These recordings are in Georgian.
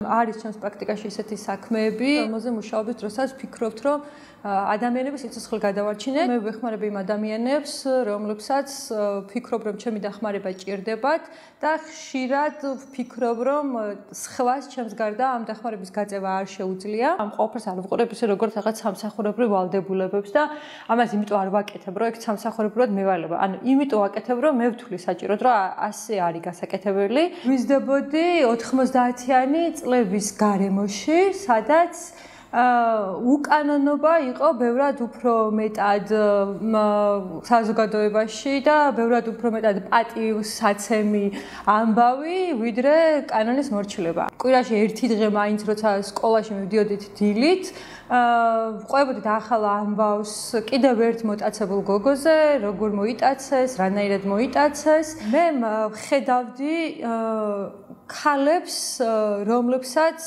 არის ჩემს პრაქტიკაში ისეთი საქმეები, რომელზე მუშაობის დროსაც ვფიქრობთ, რომ ადამიანების სიცოცხლე გადავარჩინე. მე ვეხმარებ იმ ადამიანებს, რომლებსაც ვფიქრობ, რომ ჩემი დახმარება ჭირდებათ და ხშირად ვფიქრობ, რომ სხვას ჩემს გარდა ამ დახმარების გაწევა არ შეუძლია. ამ ყველაფერს არ ვყურებ ისე როგორც რაღაც სამსახურებრივ ვალდებულებებს და ამას იმიტომ არ ვაკეთებ, რომ ეგ სამსახურებრივად მევალება. ანუ იმიტომ ვაკეთებ, რომ მე ვთვლი საჭიროდ, რომ ასე არის გასაკეთებელი. ვიზრდებოდი 90-იანი წლების გარემოში, სადაც უკანონობა იყო ბევრად უფრო მეტად საზოგადოებაში და ბევრად უფრო მეტად პატივსაცემი ამბავი, ვიდრე კანონის მორჩილება. კვირაში ერთი დღე მაინც როცა სკოლაში მივდიოდით დილით, ვყვებოდით ახალ ამბავს კიდევ ერთ მოტაცებულ გოგოზე, როგორ მოიტაცეს, რანაირად მოიტაცეს. მე ხედავდი ქალებს, რომლებსაც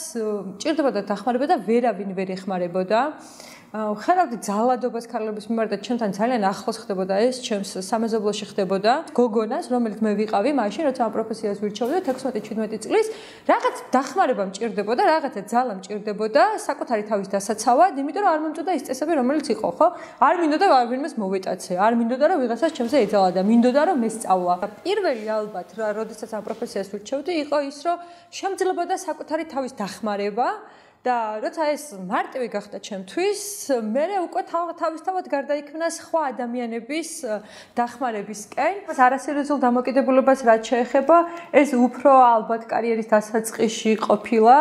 ჭირდებოდა დახმარება და ვერავინ ვერ ეხმარებოდა. ხედავდი ძალადობას ქალების მიმართ და ჩემთან ძალიან ახლოს ხდებოდა ეს, ჩემს სამეზობლოში ხდებოდა. გოგონას, რომელიც მე ვიყავი, მაშინ როცა ამ პროფესიას ვირჩევდი 16-17 წლის, რაღაც დახმარება მჭირდებოდა, რაღაცა ძალა მჭირდებოდა, საკუთარი თავის დასაცავად, იმიტომ რომ არ მომწოდა ის წესები, რომელიც იყო, ხო? არ მინდოდა ვინმეს მოვიტაცე, არ მინდოდა რომ ვიღაცას ჩემზე ეძალა და მინდოდა რომ მესწავლა. პირველი ალბათ, როდესაც ამ პროფესიას ვირჩევდი, იყო ის, რომ შემძლებოდა საკუთარი თავის დახმარება. და როცა ეს მარტივი გახდა ჩემთვის, მე უკვე თავისთავად გარდაიქმნა სხვა ადამიანების დახმარებისკენ. არასერიოზულ დამოკიდებულებას რაც შეეხება, ეს უფრო ალბათ კარიერის დასაწყისში ყოფილა,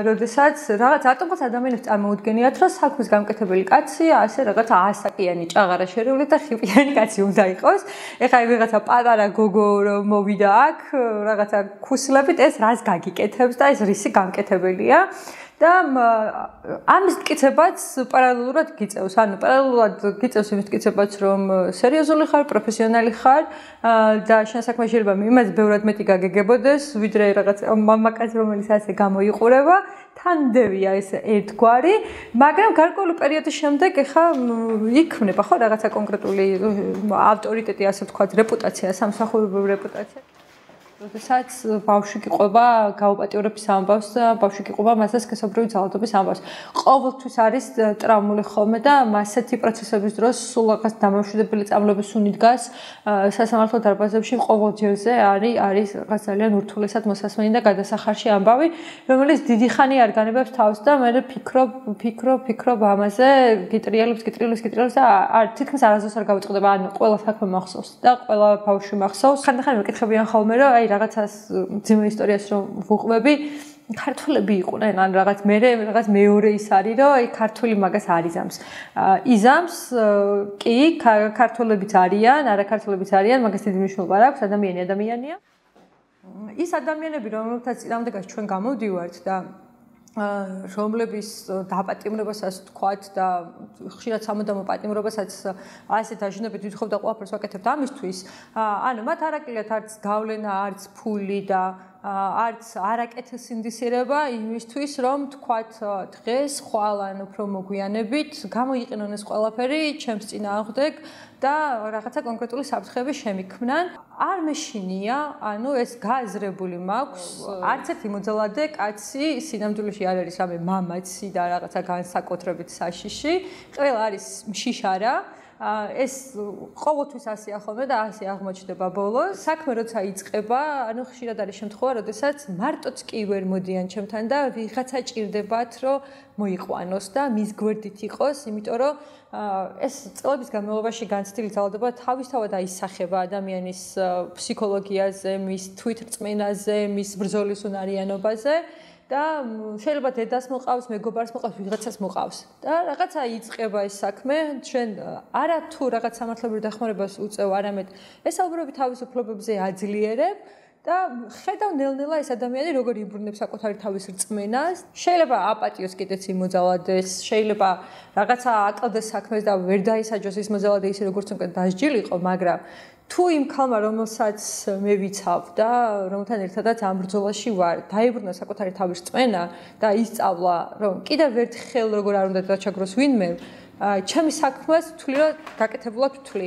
როდესაც რაღაც ატომოს ადამიანებს წარმოუდგენიათ, რომ საქმის გამკეთებელი კაცი, ასე რაღაც 100-საკიანი ჭაღარა შერეული და ხიპიანი კაცი უნდა იყოს. ეხლა ვიღაცა პატარა გოგო მოვიდა აქ, რაღაცა ქუსლებით, ეს რას გაგიკეთებს და ეს რისი გამკეთებელია. და ამის მტკიცებაც პარალელურად გიწევს. ანუ პარალელურად გიწევს იმის მტკიცებაც, რომ სერიოზული ხარ, პროფესიონალი ხარ და შენ საქმე შეიძლება იმას ბევრად მეტი გაგეგებოდეს, ვიდრე რაღაც მამაკაც, რომელიც ასე გამოიყურება. თანდევია ეს ერთგვარი, მაგრამ გარკვეული პერიოდის შემდეგ ეხა იქმნება ხო რაღაცა კონკრეტული ავტორიტეტი, ასე ვთქვათ, რეპუტაცია, სამსახურებრივი რეპუტაცია. როდესაც ბავშვი გიყვება გაუპატიურების ამბავს და ბავშვი გიყვება მასზე სქესობრივი ძალადობის ამბავს. ყოველთვის არის ტრაუმული ხოლმე და მასეთი პროცესების დროს სულ რაღაც დამამშვიდებელი წამლების უნი დგას სასამართლო დარბაზებში ყოველ ჯერზე არის რაღაც ძალიან ურთულესად მოსასმენი და გადასახარში ამბავი, რომელიც დიდი ხანი არ განებებს თავს და მე ფიქრობ ამაზე, გიტრიალებს და თითქმის არასდროს არ გავიწყდება. ანუ ყველა საქმე მახსოვს და ყველა ბავშვი მახსოვს. ხანდახან მეკითხებიან ხოლმე, რომ რაღაცას ძიმე ისტორიას რომ ვუყვები, ქართველები იყვნენ, ან რაღაც მეორე ის არის, რომ აი ქართველი მაგას არ იზამს. იზამს კი, ქართველებიც არიან, არაქართველებიც არიან, მაგას დიდი მნიშვნელობა არ აქვს, ადამიანია. ის ადამიანები, რომელთაც წინამდგას ჩვენ გამოვდივართ და რომლების დაპატიმრებასაც თქვათ და ხშირად სამუდამო პატიმრობასაც ასე დაჟინებით ვითხოვ და ყველაფერს ვაკეთებთ ამისთვის. ანუ მათ არ აკლიათ არც გავლენა, არც ფული და არც არაკეთილ სინდისიერება იმისთვის, რომ თქვათ დღეს ხვალ ან უფრო მოგვიანებით გამოიყენონ ეს ყველაფერი ჩემს წინააღმდეგ და რაღაცა კონკრეტული საფრთხეები შემიქმნან. არ მეშინია, ანუ ეს გააზრებული მაქვს, არც ერთი მოძალადე კაცი სინამდვილეში არ არის რამე მამაცი და რაღაცა განსაკუთრებით საშიში, ყველა არის მშიშარა. ეს ყოველთვის ასეა ხოლმე და ასე აღმოჩნდება ბოლოს. საქმე როცა იწყება, ანუ ხშირად არის შემთხვევა, როდესაც მარტოც კი ვერ მოდიან ჩემთან და ვიღაცა ჭირდებათ, რომ მოიყვანოს და მის გვერდით იყოს, იმიტომ რომ ეს წლების განმავლობაში განცდილი ძალადობა თავისთავად აისახება ადამიანის ფსიქოლოგიაზე, მის თვითრწმენაზე, მის ბრძოლის უნარიანობაზე. და შეიძლება დედას მოყავს, მეგობარს მოყავს, ვიღაცას მოყავს. და რაღაცა იწყება ეს საქმე, ჩვენ არა თუ რაღაც სამართლებრივ დახმარებას უწევ, არამედ ესაუბრები თავისუფლებებზე აძლიერებ და ხედავ ნელ-ნელა ეს ადამიანი როგორ იბრუნებს საკუთარი თავის რწმენას. შეიძლება აპატიოს კიდეც იმ მოძალადეს, შეიძლება რაღაცა აკლდეს საქმეს და ვერ დაისაჯოს ის მოძალადე ისე როგორც უკვე დასჯილიყო, მაგრამ თუ იმ ქალმა, რომელსაც მე ვიცავ და რომელთან ერთადაც ამ ბრძოლაში ვარ, დაიბრუნა საკუთარი თავის რწმენა და ისწავლა, რომ კიდევ ერთხელ როგორ არ უნდა დაჩაგროს ვინმე, ჩემი საქმეს ვთვლი, რომ გაკეთებულად ვთვლი.